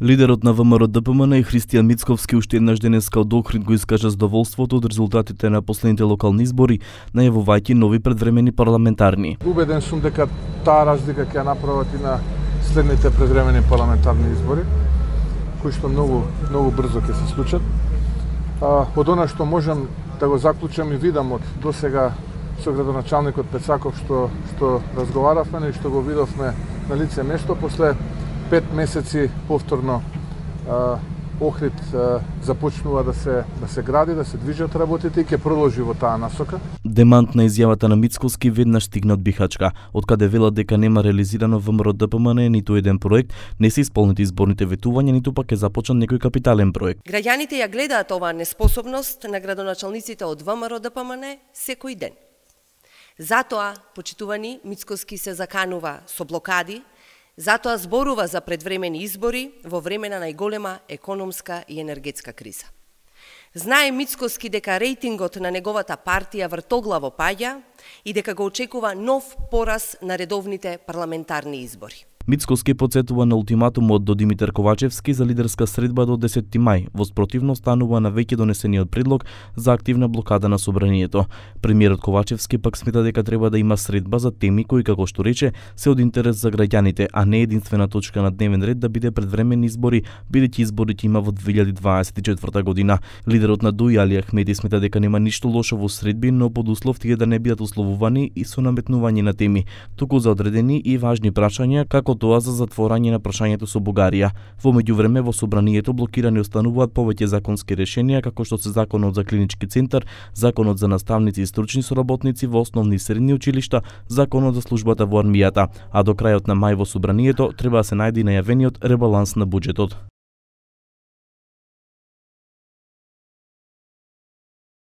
Лидерот на ВМРО-ДПМН и Христијан Мицковски уште еднаш денеска од Охрид го искажа задоволството од резултатите на последните локални избори, најавувајќи нови предвремени парламентарни. Убеден сум дека таа разлика ќе ја направат и на следните предвремени парламентарни избори, кои што многу брзо ќе се случат. Од она што можам да го заклучам и видам од досега со градоначалникот Пецаков што разговаравме и што го видовме на лице место, после 5 месеци повторно Охрид започнува да се гради, да се движат работите и ќе продолжи во таа насока. Демант на изјавата на Мицковски веднаш стигна од Бихачка, откаде велат дека нема реализирано ВМРО-ДПМН ниту еден проект, не се исполнети изборните ветувања, ниту пак е започнат некој капитален проект. Граѓаните ја гледаат оваа неспособност на градоначалниците од ВМРО-ДПМН секој ден. Затоа, почитувани, Мицковски се заканува со блокади, затоа зборува за предвремени избори во време на најголема економска и енергетска криза. Знае Мицковски дека рейтингот на неговата партија вртоглаво паѓа и дека го очекува нов пораз на редовните парламентарни избори. Мицковски потсетува на ултиматумот до Димитар Ковачевски за лидерска средба до 10 мај, во спротивно станува на веќе донесениот предлог за активна блокада на собранието. Премиерот Ковачевски пак смета дека треба да има средба за теми кои, како што рече, се од интерес за граѓаните, а не единствена точка на дневен ред да биде предвремени избори, бидејќи изборите има во 2024 година. Лидерот на ДУИ Али Ахмеди смета дека нема ништо лошо во средби, но под услов тие да не бидат условувани и со наметнување на теми, туку за одредени и важни прашања, како тоа за затворање на прашањето со Бугарија. Во меѓувреме во собранието блокирани остануваат повеќе законски решенија, како што се Законот за клинички центар, Законот за наставници и стручни соработници во основни и средни училишта, Законот за службата во армијата, а до крајот на мај во собранието треба да се најде и најавениот ребаланс на буџетот.